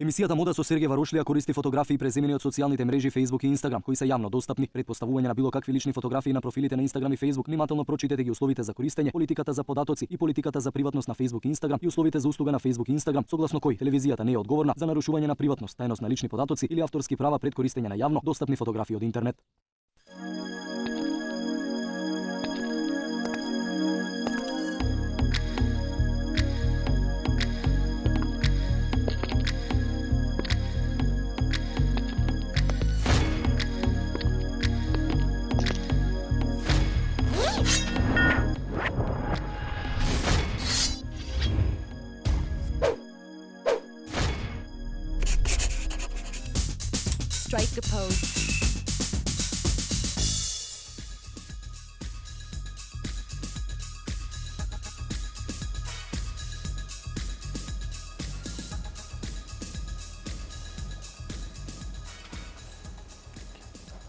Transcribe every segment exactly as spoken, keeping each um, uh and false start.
Емисијата Мода со Сергеј Варошлија користи фотографии преземени од социјалните мрежи Facebook и Instagram, кои се јавно достапни. Пред поставување на било какви лични фотографии на профилите на Instagram и Facebook, внимателно прочитете ги условите за користење, политиката за податоци и политиката за приватност на Facebook и Instagram и условите за услуга на Facebook и Instagram, согласно кои телевизијата не е одговорна за нарушување на приватност, тајност на лични податоци или авторски права пред користење на јавно достапни фотографии од интернет. Strike a pose.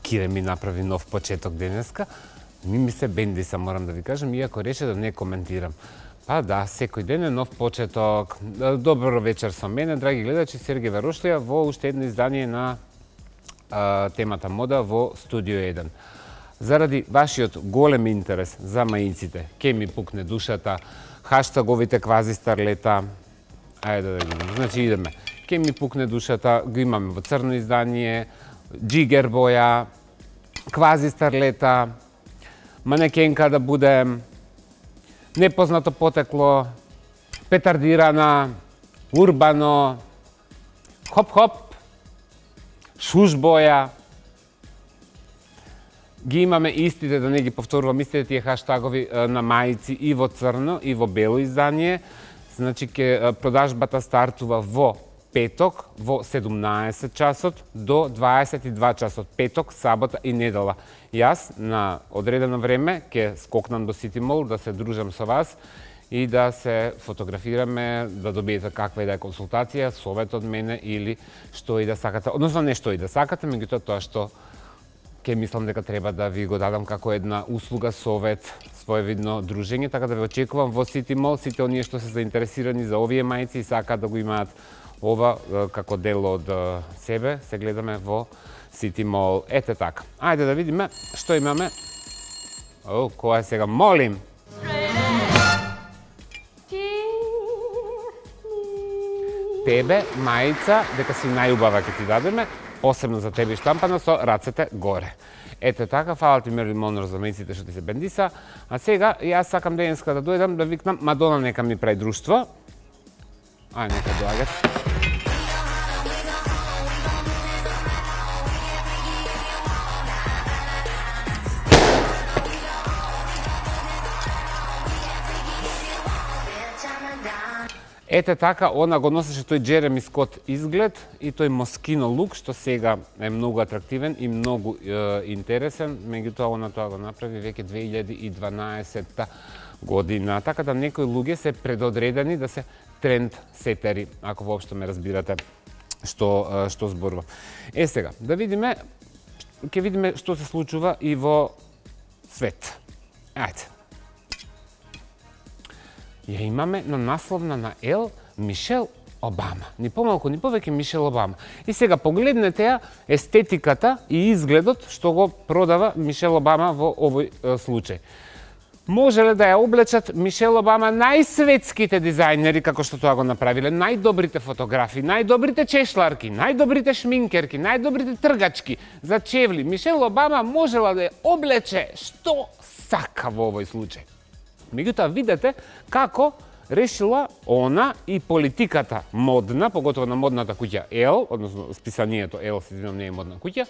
Кире ми направи нов почеток денеска. Ми ми се бендиса, морам да ви кажам, иако рече да не коментирам. Па да, секој ден е нов почеток. Добро вечер со мене, драги гледачи, Сергеј Варошлија во уште едно издание на а, темата мода во Студио еден. Заради вашиот голем интерес за маиците, ке ми пукне душата, хаштаговите квази старлета, ајде да видиме, значи идеме. Ке ми пукне душата, го имаме во црно издание, джигер боја, квази старлета, манекенка да будем, непознато потекло, петардирана, урбано, хоп-хоп, шушбоја. Ги имаме истите, да не ги повторувам, истите тие хаштагови на мајци и во црно и во бело издание. Значи, ке продажбата стартува во петок, во седумнаесет часот до дваесет и два часот, петок, сабота и недела. Јас на одредено време ќе скокнам до Сити Мол да се дружам со вас и да се фотографираме, да добиете каква и да е консултација, совет од мене или што и да сакате. Односно не што и да сакате, меѓутоа тоа што ќе мислам дека треба да ви го дадам како една услуга, совет, своевидно дружење, така да ве очекувам во Сити Мол. Сите оние што се заинтересирани за овие мајци и сакаат да го имаат ова како дел од себе, се гледаме во Сити Мол. Ете така. Ајде да видиме што имаме. О, која сега? Молим! Тебе, мајца, дека си најубава ќе ти дадеме, посебно за тебе штампана со рацете горе. Ете така, фала ти Мерлин Монро за мајците што ти се бендиса. А сега, јас сакам денеска да дојдам да викнам Мадона нека ми прави друштво. Ај, нека доаѓат. Ете така, она го носеше тој Джереми Скот изглед и тој москино лук, што сега е многу атрактивен и многу е, интересен, меѓутоа она тоа го направи веќе две илјади и дванаесетта година. Така да некои луѓе се предодредени да се тренд сетери, ако воопшто ме разбирате што што зборувам. Е сега, да видиме, ќе видиме што се случува и во свет. Ајде. Ја имаме на насловна на Ел Мишел Обама. Ни помалку, ни повеќе Мишел Обама. И сега погледнете ја естетиката и изгледот што го продава Мишел Обама во овој е, случај. Можеле да ја облечат Мишел Обама најсветските дизајнери, како што тоа го направиле, најдобрите фотографии, најдобрите чешларки, најдобрите шминкерки, најдобрите тргачки за чевли. Мишел Обама можела да ја облече што сака во овој случај. Меѓутоа, видете како решила она и политиката модна, поготово на модната куќа Ел, односно списанието Ел, се извинам, не е модна куќа,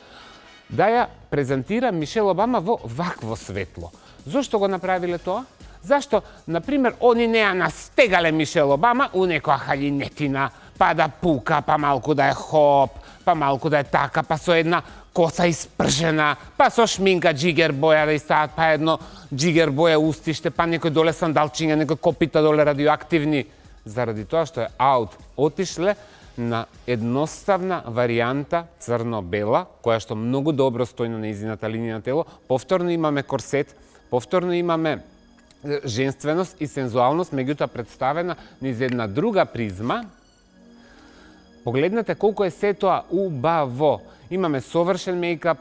да ја презентира Мишел Обама во вакво светло. Зошто го направиле тоа? Зашто, например, они не ја настегале Мишел Обама у некоја халинетина, па да пука, па малку да е хоп, па малку да е така, па со една коса испржена, па со шминка джигер боја да стават, па едно джигер боја устиште, па некој доле сандалчиња, некој копита доле радиоактивни. Заради тоа што е аут, отишле на едноставна варијанта црно-бела, која што многу добро стои на нејзината линија на тело. Повторно имаме корсет, повторно имаме женственост и сензуалност, меѓутоа представена низ една друга призма, Погледнете колку е се тоа убаво. Имаме совршен мејкап,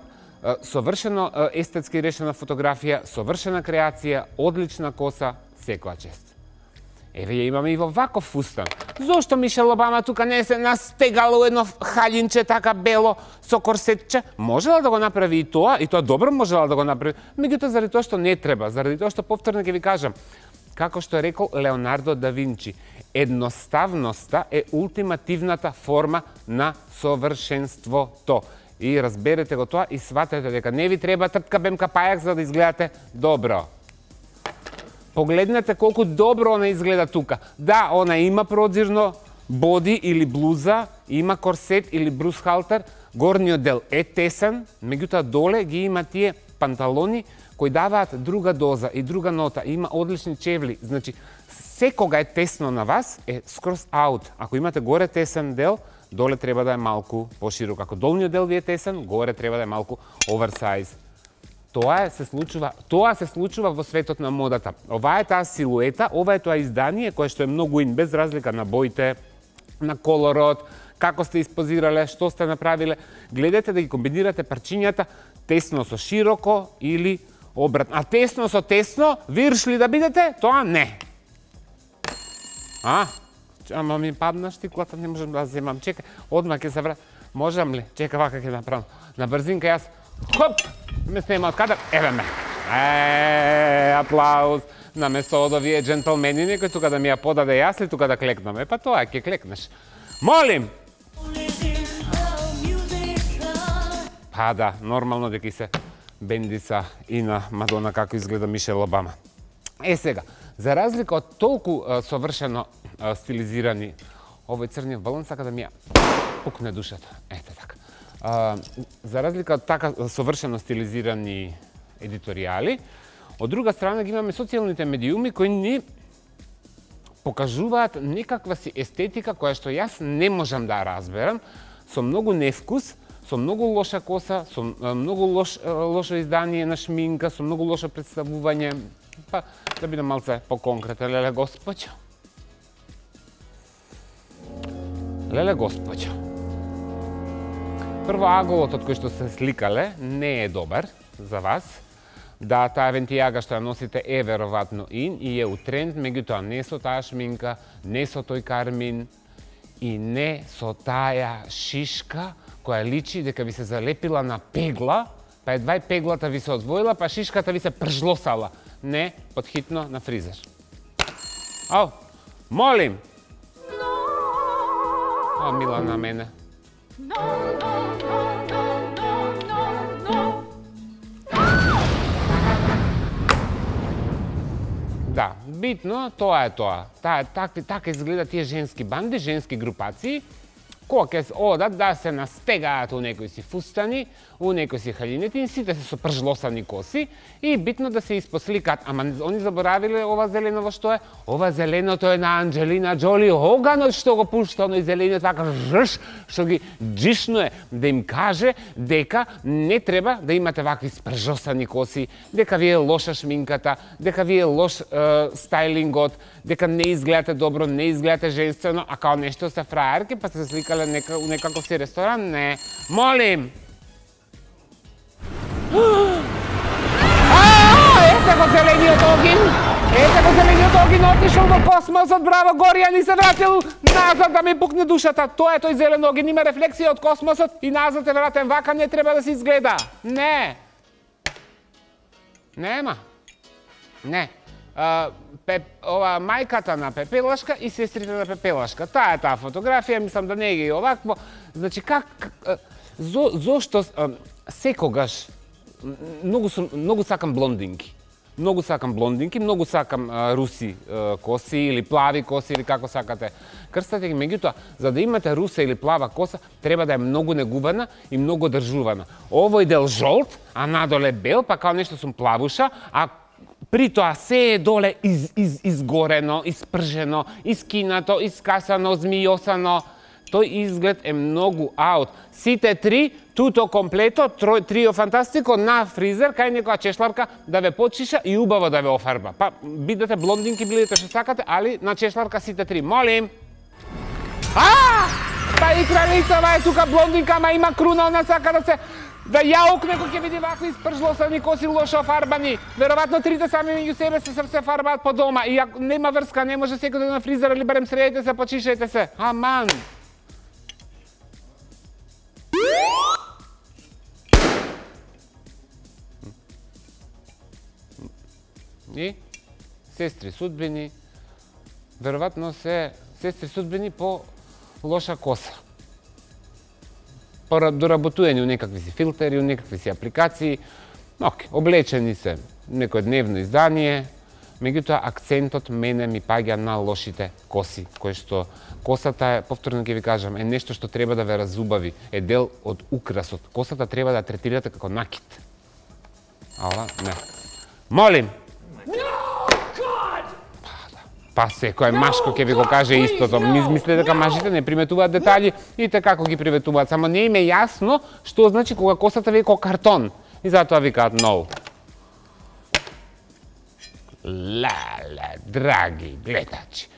совршено естетски решена фотографија, совршена креација, одлична коса, секоја чест. Еве ја имаме и во ваков фустан. Зошто Мишел Обама тука не се настегало едно халинче така бело со корсетче? Можела да го направи и тоа, и тоа добро можела да го направи. Меѓутоа заради тоа што не треба, заради тоа што повторно ќе ви кажам, како што е рекол Леонардо да Винчи, едноставноста е ултимативната форма на совршенството. И разберете го тоа и сватете дека не ви треба тртка бемка пајак за да изгледате добро. Погледнете колку добро она изгледа тука. Да, она има продзирно боди или блуза, има корсет или брусхалтер, горниот дел е тесен, меѓутоа доле ги има тие панталони кои даваат друга доза и друга нота, има одлични чевли. Значи, секога е тесно на вас, е скроз аут. Ако имате горе тесен дел, доле треба да е малку поширок. Ако долниот дел ви е тесен, горе треба да е малку оверсайз. Тоа се случува, тоа се случува во светот на модата. Ова е таа силуета, ова е тоа издание кое што е многу ин, без разлика на боите, на колорот, како сте испозирале, што сте направиле. Гледате да ги комбинирате парчињата тесно со широко или обратно. А тесно со тесно, виршли да бидете, тоа не. А? Ама ми падна штиклата, не можам да земам. Чекај, одма ќе се врат. Можам ли? Чека, вака ќе направам. На брзинка јас, хоп, ме снема од кадар, еве ме. Е, аплауз. На место од овие джентлмени, некој тука да ми ја подаде јас ли тука да клекнам. Е, па тоа, ќе клекнеш. Молим! Па да, нормално дека се бендица и на Мадона како изгледа Мишел Обама. Е сега, за разлика од толку а, совршено а, стилизирани, овој црниот балон сака да ми ја пукне душата. Ете така. А, за разлика од така совршено стилизирани едиторијали, од друга страна ги имаме социјалните медиуми кои ни покажуваат некаква си естетика која што јас не можам да разберам, со многу невкус, со многу лоша коса, со многу лош, лошо издание на шминка, со многу лошо представување. Па, да бидам малце по-конкретен, леле господјо. Леле господјо. Прво, аголот од кој што се сликале не е добар за вас. Да, таа вентијага што ја носите е веројатно ин и е у тренд, меѓутоа не со таа шминка, не со тој кармин и не со таа шишка која личи дека ви се залепила на пегла, па едва и пеглата ви се одвоила, па шишката ви се пржлосала. Не, подхитно на фризер. Ау, молим! О, мила на мене. Да, битно, тоа е тоа. Таа, такви, така изгледа тие женски банди, женски групации, кога ќе одат да се настегаат у некои си фустани, у некои си халинети, сите се со пржлосани коси и битно да се испосликаат. Ама они заборавиле ова зеленово што е? Ова зеленото е на Анджелина Джоли, оганот што го пушта, оној зелениот така жш, што ги джишнуе, да им каже дека не треба да имате вакви спржосани коси, дека ви е лоша шминката, дека ви е лош е, стайлингот, дека не изгледате добро, не изгледате женствено, а као нешто сте фраерки, па се сликале нека, у некаков си ресторан, не. Молим! Ете го зелениот огин! Ете го зелениот огин, отишол во космосот, браво, Горија ни се вратил назад да ми пукне душата. Тоа е тој зелен огин, има рефлексија од космосот и назад е вратен, вака не треба да се изгледа. Не! Нема. Не. Uh, пеп, ова мајката на Пепелашка и сестрите на Пепелашка. Таа е таа фотографија, мислам да не е овакво. Значи, как, зо, зошто uh, секогаш многу, многу сакам блондинки. Многу сакам блондинки, многу сакам uh, руси uh, коси или плави коси или како сакате крстате ги. Меѓутоа, за да имате руса или плава коса, треба да е многу негувана и многу држувана. Овој дел жолт, а надоле бел, па као нешто сум плавуша, а при тоа се е доле из, из, изгорено, испржено, искинато, искасано, змијосано. Тој изглед е многу аут. Сите три, туто комплето, трио фантастико на фризер, кај некоја чешларка да ве почиша и убаво да ве офарба. Па бидете блондинки, бидете што сакате, али на чешларка сите три. Молим! А! Па и кралица, ова е тука блондинка, ама има круна, она сака да се да јаук некој ќе види вакви испржлосани коси лошо офарбани. Веројатно трите сами меѓу себе се се фарбаат по дома и ако нема врска, не може секој да на фризер или барем средите се, почишајте се. Аман. И сестри судбини, веројатно се сестри судбини по лоша коса. По доработување у некакви си филтери, у некакви си апликации. Ок, облечени се некој дневно издание, меѓутоа акцентот мене ми паѓа на лошите коси, кои што косата е, повторно ќе ви кажам, е нешто што треба да ве разубави, е дел од украсот. Косата треба да третирате како накит. Ала, не. Молим! Па секој машко ќе ви го каже истото. Мислите дека мажите не приметуваат детали и така како ги приметуваат. Само не им е јасно што значи кога косата ви е како картон. И затоа викаат no. Леле, драги гледачи.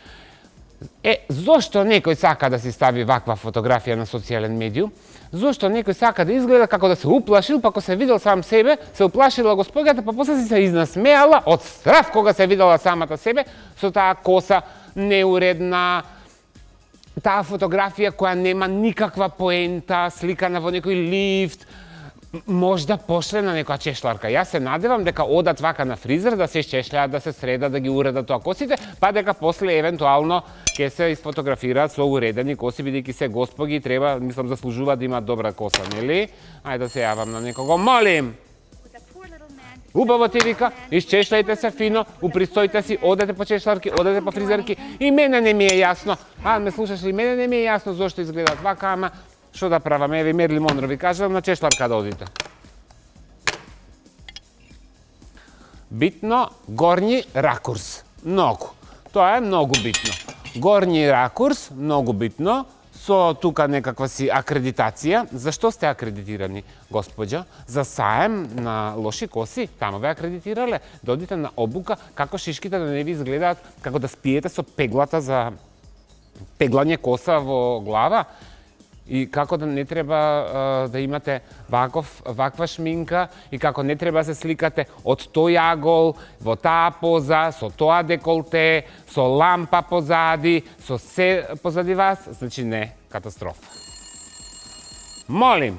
Е, зошто некој сака да си стави ваква фотографија на социјален медиум? Зошто некој сака да изгледа како да се уплашил, па кога се видел сам себе, се уплашила господјата, па после си се изнасмеала од страв кога се видела самата себе со таа коса неуредна, таа фотографија која нема никаква поента, сликана во некој лифт, можда пошле на некоја чешларка. Јас се надевам дека одат вака на фризер да се чешљаат, да се средат, да ги уредат тоа косите, па дека после евентуално ќе се изфотографираат со уредени коси, бидејќи се господи треба, мислам, заслужуваат да имаат добра коса, нели? Ајде да се јавам на некого. Молим! Убаво ти вика, изчешљајте се фино, упристојте си, одете по чешларки, одете по фризерки. И мене не ми е јасно. А, ме слушаш ли? Мене не ми е јасно зошто изгледат вака, ама што да правам? Еве Мерли Монро ви кажам, на чешларка да одите. Битно, горњи ракурс. Многу. Тоа е многу битно. Горњи ракурс, многу битно, со тука некаква си акредитација. Зашто сте акредитирани, господја? За саем на лоши коси? Тамо ве акредитирале. Додите на обука како шишките да не ви изгледаат, како да спиете со пеглата за пеглање коса во глава. И како да не треба а, да имате ваков, ваква шминка и како не треба да се сликате од тој агол, во таа поза, со тоа деколте, со лампа позади, со се позади вас, значи не, катастрофа. Молим!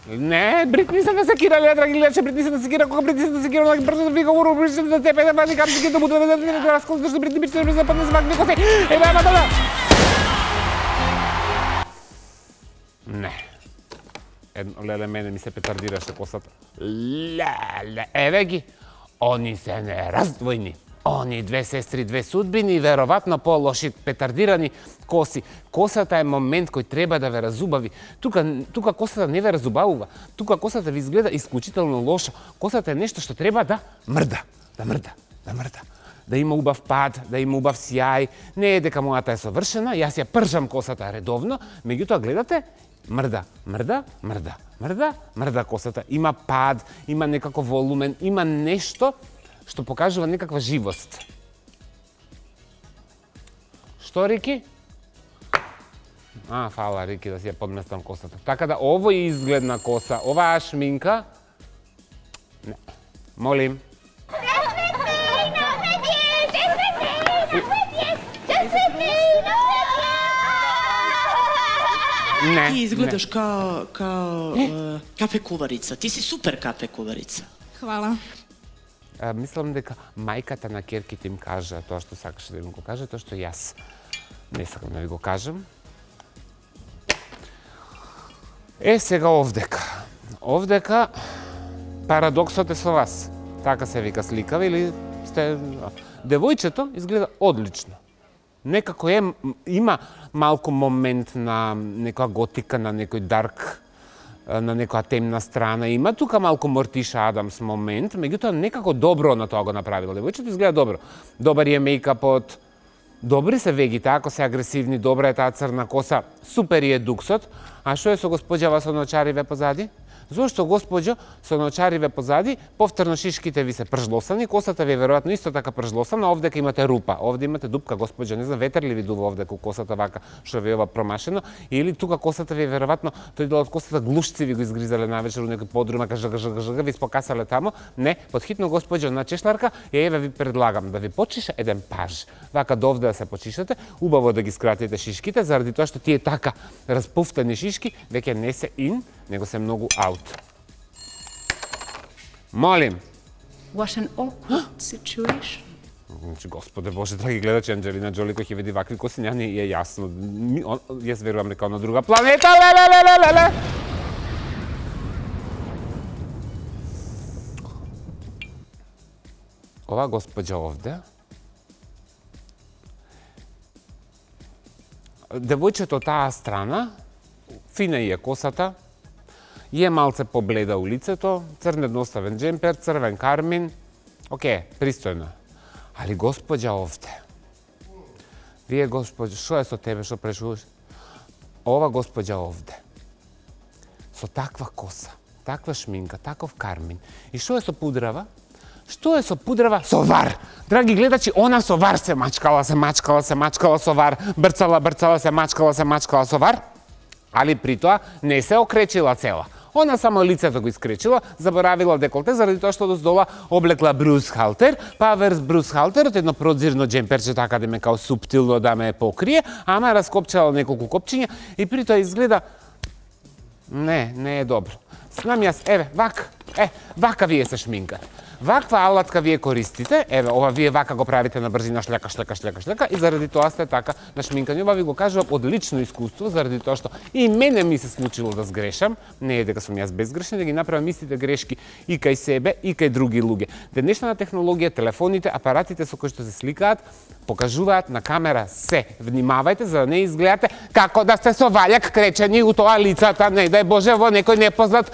Не, Бритни се насекирале, драги гледачи, Бритни се насекира, кога Бритни се насекира, онаки брзо да вика уру, Бритни да тебе, да вади капчики, да буду, да да да раскол, зашто Бритни биче да западне за вакви коси. Еве, ама да. Не. Едно, леле, мене ми се петардираше косата. Леле, еве ги. Они се нераздвојни. Они две сестри, две судбини, веројатно по-лоши петардирани коси. Косата е момент кој треба да ве разубави. Тука, тука косата не ве разубавува. Тука косата ви изгледа исклучително лошо. Косата е нешто што треба да мрда. Да мрда, да мрда. Да има убав пад, да има убав сјај. Не е дека мојата е совршена, јас ја пржам косата редовно, меѓутоа гледате, мрда, мрда, мрда, мрда, мрда косата. Има пад, има некако волумен, има нешто што покажува некаква живост. Што, Рики? А, фала, Рики, да си ја подместам косата. Така да, ово е изгледна коса, оваа шминка... Не. Молим. Не. Ти изгледаш као, као е, кафе куварица. Ти си супер кафе куварица. Хвала. А, мислам дека мајката на керките им кажа тоа што сакаше да им го каже, тоа што јас не сакам да ви го кажам. Е, сега овдека. Овдека парадоксот е со вас. Така се вика сликава или сте... Девојчето изгледа одлично. Некако е, има малку момент на некоја готика, на некој дарк, на некоја темна страна. Има тука малку Мортиша Адамс момент, меѓутоа некако добро на тоа го направила. Девојчето изгледа добро. Добар е мејкапот, добри се вегите, ако се агресивни, добра е таа црна коса, супер е дуксот. А што е со господјава со ночариве позади? Зошто, госпоđo, со наочариве позади, повторно шишките ви се пржлосани, косата ви е веројатно исто така пржлосана, овдека имате рупа, овде имате дупка, госпоđo, не знам, ветер ли ви дува овдека косата вака, што ви е ова промашено, или тука косата ви е веројатно, тој дел од косата глушци ви го изгризале навечер у некој подрумак, жг, жг, жг, ви спокасале тамо. Не, подхитно, госпоđo, на чешларка, ја еве ви предлагам да ви почиша еден паж. Вака довде да се почишате, убаво да ги скратите шишките, заради тоа што тие така распуфтени шишки веќе не се ин, него се многу аут. Молим. What an awkward situation. Значи, Господе Боже, драги гледачи, Анџелина Џоли кој ќе види вакви коси, ја не е јасно. Јас верувам дека на друга планета, ле, ле, ле, ле, ле. Ова госпоđа овде, девојчето таа страна, фина е косата, е малце побледа у лицето, црн едноставен джемпер, црвен кармин, оке, пристојно. Али госпоđа овде, вие госпоđа, шо е со тебе, шо прешуваш? Ова госпоđа овде, со таква коса, таква шминка, таков кармин, и шо е со пудрава? Што е со пудрава? Со вар! Драги гледачи, она со вар се мачкала, се мачкала, се мачкала со вар, брцала, брцала, се мачкала, се мачкала со вар, али при тоа не се окречила цела. Она само лицето го искречила, заборавила деколте, заради тоа што доздола облекла брусхалтер, па верс брусхалтерот едно продзирно джемперче, така да ме као суптилно да ме покрие, ама раскопчала неколку копчиња и при тоа изгледа не, не е добро. Знам јас, еве, вака, е, вака вие се шминкате. Ваква алатка вие користите, еве, ова вие вака го правите на брзина, шлека, шлека, шлека, шлека, и заради тоа сте така на шминкање. Ова ви го кажувам од лично искуство, заради тоа што и мене ми се случило да сгрешам, не е дека сум јас безгрешен, да ги направам истите грешки и кај себе, и кај други луѓе. Денешната технологија, телефоните, апаратите со кои што се сликаат, покажуваат на камера се. Внимавајте за да не изгледате како да сте со ваљак кречени у тоа лицата, не дај Боже, во некој непознат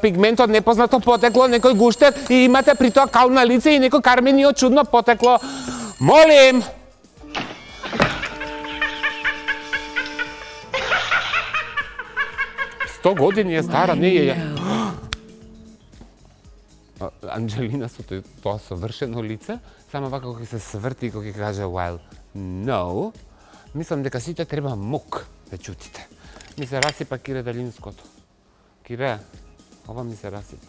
пигмент од непознато потекло, некој гуштер и имате при тоа кал на лице и некој карменио чудно потекло. Молим! сто години е стара, не е ја. Анџелина со тоа совршено лице, само вака кога се сврти и кога ќе каже while no, мислам дека сите треба мук да чутите. Ми се расипа Кире Далинското. Кире, ова ми се расипа.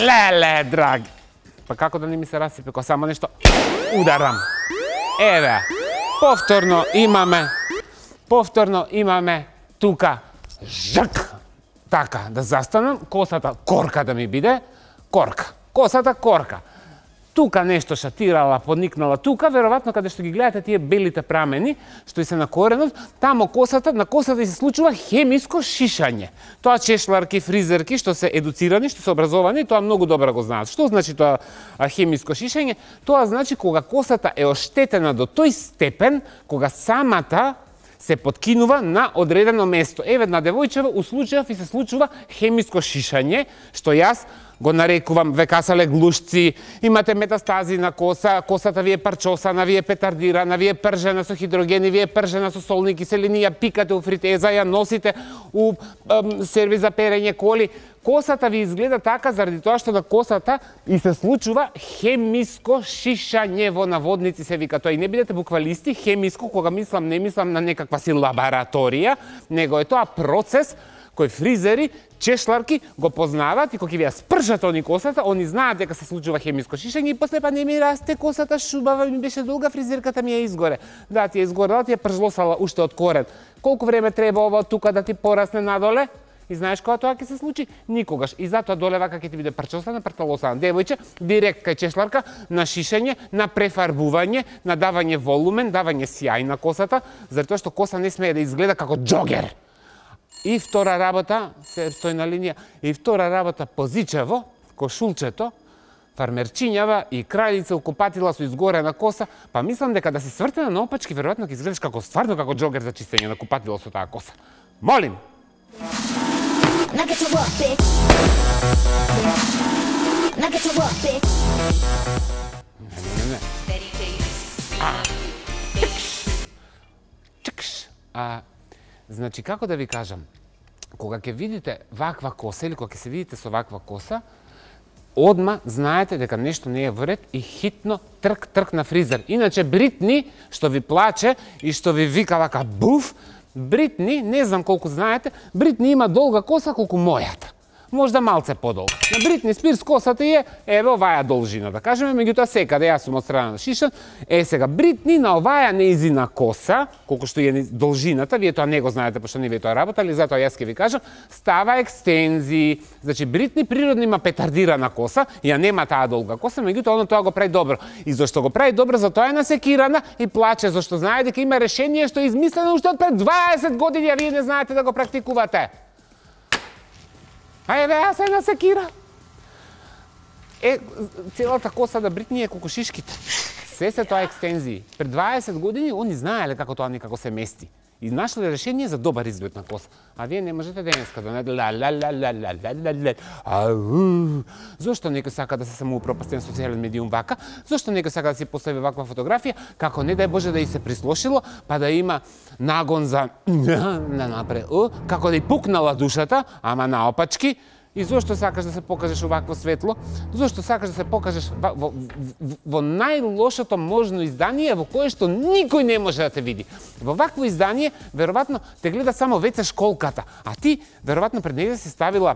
Леле, драги! Па како да не ми се расипе, кога само нешто ударам. Еве, повторно имаме, повторно имаме тука жак. Така, да застанам, косата корка да ми биде, корка. Косата корка. Тука нешто шатирала, подникнала тука, веројатно каде што ги гледате тие белите прамени, што и се на коренот, тамо косата, на косата и се случува хемиско шишање. Тоа чешларки, фризерки, што се едуцирани, што се образовани, тоа многу добро го знаат. Што значи тоа хемиско шишање? Тоа значи кога косата е оштетена до тој степен, кога самата се подкинува на одредено место. Еве на девојчева у случајов и се случува хемиско шишање, што јас го нарекувам векасале глушци, имате метастази на коса, косата ви е парчосана, ви е петардирана, ви е пржена со хидрогени, ви е пржена со солни киселини, ја пикате у фритеза, ја носите у ем, сервис за перење коли. Косата ви изгледа така заради тоа што на косата и се случува хемиско шишање, во наводници се вика тоа. И не бидете буквалисти, хемиско, кога мислам, не мислам на некаква си лабораторија, него е тоа процес кој фризери, чешларки го познаваат и кога ќе ви ја спржат они косата, они знаат дека се случува хемиско шишање и после па не ми расте косата, шубава ми беше долга, фризерката ми ја изгоре. Да, ти ја изгорела, ти ја пржлосала уште од корен. Колку време треба ова тука да ти порасне надоле? И знаеш кога тоа ќе се случи? Никогаш. И затоа доле вака ќе ти биде прчосана, прталосана. Девојче, директ кај чешларка, на шишење, на префарбување, на давање волумен, давање сјај на косата, затоа што коса не смее да изгледа како џогер. И втора работа, се стои на линија, и втора работа позичево, кошулчето, фармерчињава и крајлица укопатила со изгорена коса, па мислам дека да се свртена наопачки, веројатно ќе изгледаш како стварно како џогер за чистење на купатило со таа коса. Молим! Не, не, не. А, чикш. Чикш. А, значи, како да ви кажам? кога ќе видите ваква коса или кога ќе се видите со ваква коса, одма знаете дека нешто не е во ред и хитно трк трк на фризер. Иначе Бритни што ви плаче и што ви вика вака буф, Бритни, не знам колку знаете, Бритни има долга коса колку мојата. Можда малце подолга. На Бритни Спирс косата е еве оваа должина, да кажеме, меѓутоа секаде јас сум од страна на Шишан. Е сега Бритни на оваа неизина коса, колку што е должината, вие тоа не го знаете пошто не вие тоа работали, затоа јас ќе ви кажам, става екстензии. Значи Бритни природно има петардирана коса, ја нема таа долга коса, меѓутоа она тоа го прави добро. И зашто го прави добро, затоа е насекирана и плаче, зашто знае дека има решение што е измислено уште од пред дваесет години, а вие не знаете да го практикувате. А еве, јас се насекира. Е, целата коса да Бритни е колку шишките. Се се тоа екстензии. Пред дваесет години они знаеле како тоа некако се мести. И нашле решение за добар изглед на коса. А вие не можете денеска да не ла ла ла ла ла ла ла ла. Зошто некој сака да се самоупропастен социјален медиум вака? Зошто некој сака да си постави ваква фотографија, како не дај Боже да и се прислошило, па да има нагон за на напред, како да и пукнала душата, ама наопачки. И зошто сакаш да се покажеш овакво светло? Зошто сакаш да се покажеш во, во, во, во најлошото можно издание во кое што никој не може да те види? Во вакво издание, веројатно, те гледа само веќе школката, а ти, веројатно, пред неја си ставила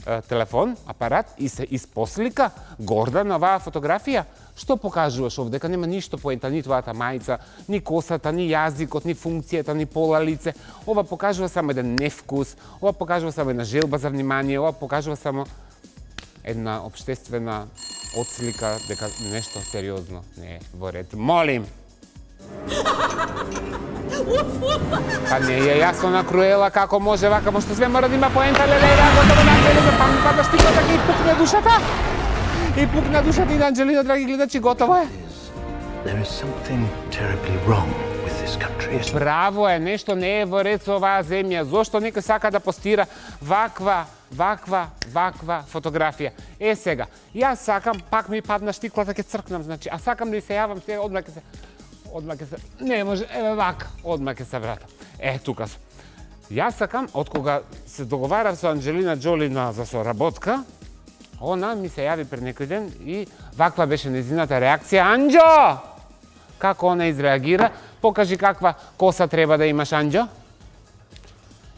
е, телефон, апарат и се испослика горда на оваа фотографија. Што покажуваш овде? Дека нема ништо поента, ни твојата мајца, ни косата, ни јазикот, ни функцијата, ни пола лице. Ова покажува само еден невкус, ова покажува само една желба за внимание, ова покажува само една општествена отслика дека нешто сериозно не е во ред. Молим! Па не е јасно на Круела како може вака, пошто све мора да има поента, леле, готово на целите, па ми падаш ти така и пукне душата. И пукна душата и на Анџелина, драги гледачи, готово е. Право е, нешто не е во ред со оваа земја. Зошто некој сака да постира ваква, ваква, ваква фотографија? Е сега, јас сакам, пак ми падна штиклата, ќе цркнам, значи, а сакам да и се јавам, сега одма ќе се... Одма ќе се... Не може, еве вака, одма ќе се вратам. Е, тука сум. Јас сакам, од кога се договарав со Анџелина Џоли за соработка, она ми се јави пред некој ден и ваква беше нејзината реакција. Анџо! Како она изреагира? Покажи каква коса треба да имаш, Анџо.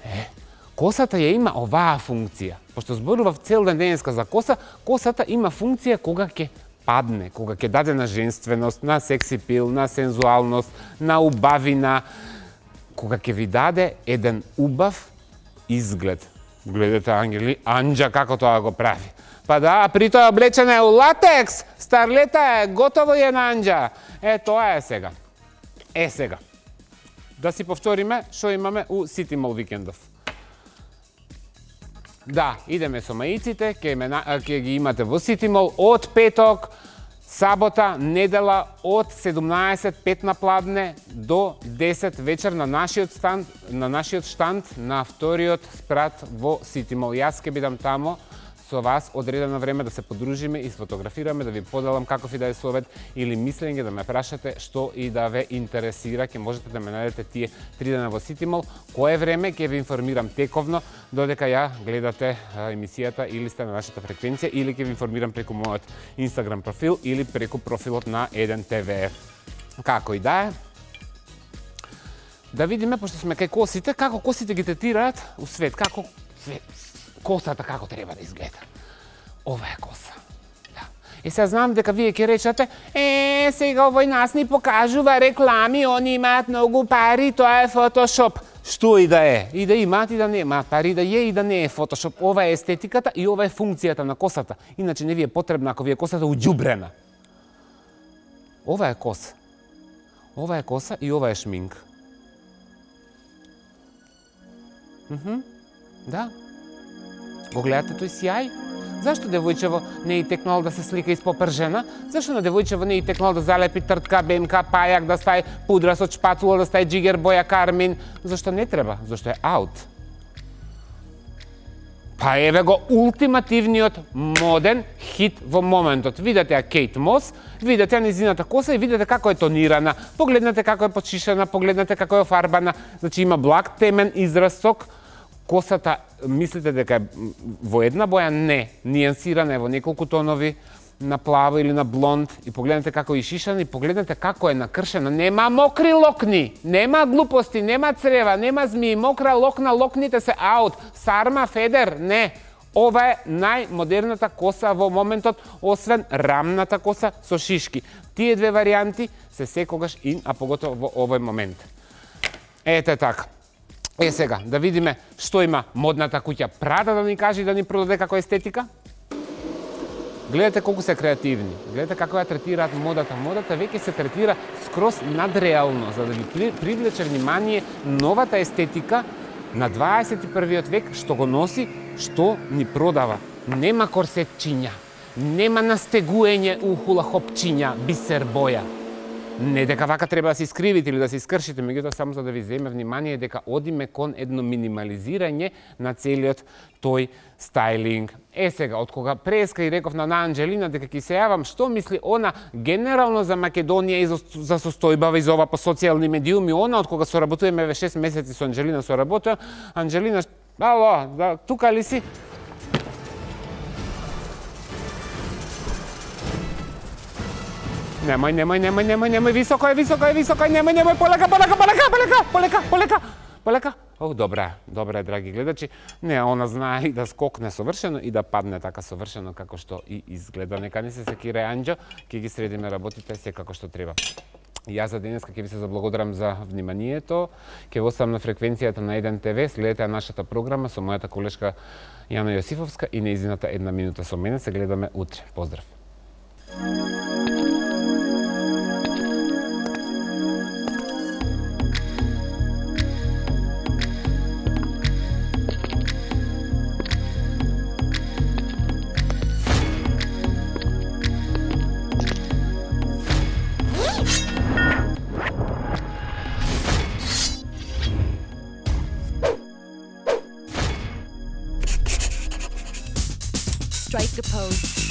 Е, косата ја има оваа функција. Пошто зборував цел ден денеска за коса, косата има функција кога ќе падне, кога ќе даде на женственост, на секси пил, на сензуалност, на убавина, кога ќе ви даде еден убав изглед. Гледате, Ангели, Анџа како тоа го прави. Па да, при тоа облечена е у латекс, старлета е, готово е на Анџа. Е, тоа е сега. Е, сега. Да си повториме што имаме у Сити Мол викендов. Да, идеме со маиците, ке, ке ги имате во Сити Мол од петок, сабота, недела од седумнаесет пет на пладне до десет вечер на нашиот штанд, на нашиот штанд на вториот спрат во Сити Мол. Јас ке бидам тамо со вас одредено време да се подружиме и сфотографираме, да ви поделам каков и да е совет или мислење, да ме прашате што и да ве интересира. Ке можете да ме најдете тие три дена во Сити Мол. Кое време ќе ви информирам тековно, додека ја гледате емисијата или сте на нашата фреквенција, или ќе ви информирам преку мојот Инстаграм профил или преку профилот на еден те ве. Како и да е. Да видиме, пошто сме кај косите, како косите ги третираат у свет, како свет. Косата како треба да изгледа. Ова е коса. Да. И сега знам дека вие ќе речете, е, сега овој нас ни покажува реклами, они имаат многу пари, тоа е фотошоп. Што и да е, и да имаат и да немаат пари, да е и да не е фотошоп. Ова е естетиката и ова е функцијата на косата. Иначе не ви е потребна ако ви е косата уџубрена. Ова е коса. Ова е коса и ова е шминк. Мхм. Да. Го гледате тој сјај? Зашто девојчево не е текнало да се слика испопржена? Зашто на девојчево не е текнало да залепи тртка, бемка, пајак, да стаи пудра со чпатула, да стаи джигер боја кармин? Зашто не треба? Зашто е аут? Па еве го ултимативниот моден хит во моментот. Видете ја Кейт Мос, видете ја низината коса и видете како е тонирана. Погледнете како е подшишена, погледнете како е офарбана. Значи има благ темен израсток, косата мислите дека е во една боја? Не, нијансирана е во неколку тонови, на плаво или на блонд, и погледнете како е ишишана, и погледнете како е накршена. Нема мокри локни, нема глупости, нема црева, нема змии, мокра локна, локните се аут. Сарма, федер, не. Ова е најмодерната коса во моментот, освен рамната коса со шишки. Тие две варијанти се секогаш ин, а поготово во овој момент. Ете така. Е сега, да видиме што има модната куќа Прада да ни каже и да ни продаде како естетика. Гледате колку се креативни, гледате како ја третираат модата. Модата веќе се третира скроз надреално, за да ви привлече внимание новата естетика на дваесет и првиот век, што го носи, што ни продава. Нема корсетчиња, нема настегуење у хулахопчиња, бисер боја. Не дека вака треба да се искривите или да се искршите, меѓутоа само за да ви земе внимание дека одиме кон едно минимализирање на целиот тој стајлинг. Е сега, од кога преска и реков на Анџелина дека ќе се јавам, што мисли она генерално за Македонија и за, за состојбава и за ова по социјални медиуми, она од кога соработуваме ве шест месеци со Анџелина соработува, Анџелина, ало, да, тука ли си? Немој, немој, немој, немој, немој, високо е, високо е, високо е, немој, немој, полека, полека, полека, полека, полека, полека, полека. О, добра, добра, драги гледачи. Не, она знае и да скокне совршено и да падне така совршено како што и изгледа. Нека не се секира Анџо, ќе ги средиме работите се како што треба. Јас за денеска ќе ви се заблагодарам за вниманието. Ќе ви оставам на фреквенцијата на еден те ве, следете нашата програма со мојата колешка Јана Јосифовска и нејзината една минута со мене. Се гледаме утре. Поздрав. Strike a pose.